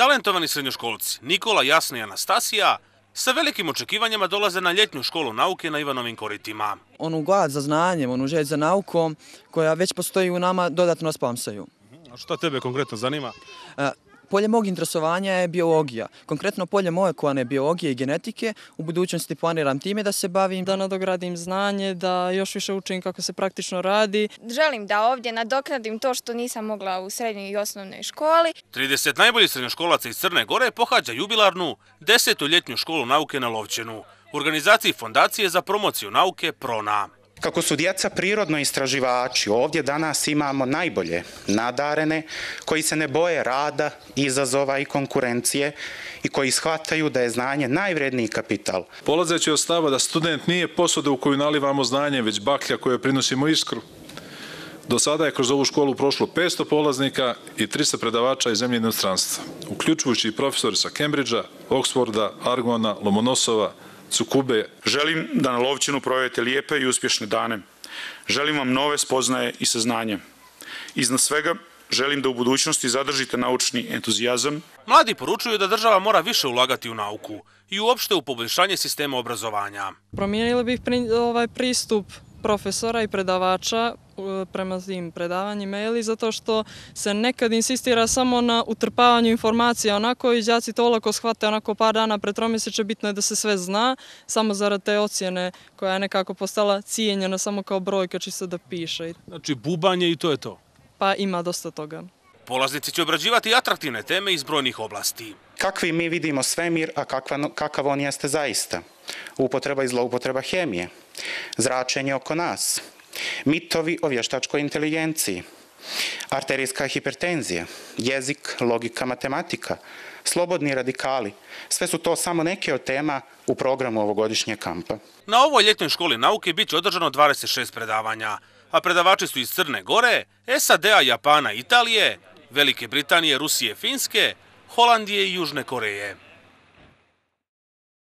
Talentovani srednjoškolci Nikola, Jasna i Anastasija sa velikim očekivanjima dolaze na ljetnju školu nauke na Ivanovim koritima. Onu glad za znanjem, onu želj za naukom koja već postoji u nama dodatno spamsaju. A što tebe konkretno zanima? Polje mog interesovanja je biologija. Konkretno polje molekulārne biologije i genetike. U budućnosti planiram time da se bavim. Da nadogradim znanje, da još više učim kako se praktično radi. Želim da ovdje nadoknadim to što nisam mogla u srednjoj i osnovnoj školi. 30 najboljih srednjoškolaca iz Crne Gore pohađa jubilarnu 10. ljetnju školu nauke na Lovćenu u organizaciji Fondacije za promociju nauke PRONA. Kako su djeca prirodno istraživači, ovdje danas imamo najbolje nadarene koji se ne boje rada, izazova i konkurencije i koji shvataju da je znanje najvredniji kapital. Polazeći od stava da student nije posuda u koju nalivamo znanje, već baklja kojoj prinosimo iskru. Do sada je kroz ovu školu prošlo 500 polaznika i 300 predavača iz zemlje i inostranstva, uključujući i profesori sa Cambridgea, Oxforda, Argona, Lomonosova, Cukube. Želim da na Lovćenu provedete lijepe i uspješne dane. Želim vam nove spoznaje i saznanje. Iznad svega, želim da u budućnosti zadržite naučni entuzijazam. Mladi poručuju da država mora više ulagati u nauku i uopšte u poboljšanje sistema obrazovanja. Promijenili bih pristup profesora i predavača prema tim predavanjima, zato što se nekad insistira samo na utrpavanju informacija, onako i đaci to olako shvate, onako par dana pred tromjeseče, bitno je da se sve zna, samo zarad te ocjene koja je nekako postala cijenjena samo kao brojka čisto da piše. Znači bubanje i to je to? Pa ima dosta toga. Polaznici će obrađivati atraktivne teme iz brojnih oblasti. Kakvi mi vidimo svemir, a kakav on jeste zaista? Upotreba i zloupotreba hemije, zračenje oko nas, mitovi o vještačkoj inteligenciji, arterijska hipertenzija, jezik, logika, matematika, slobodni radikali. Sve su to samo neke od tema u programu ovogodišnjeg kampa. Na ovoj ljetnoj školi nauke bit će održano 26 predavanja, a predavači su iz Crne Gore, SAD-a, Japana, Italije, Velike Britanije, Rusije, Finske, Holandije i Južne Koreje.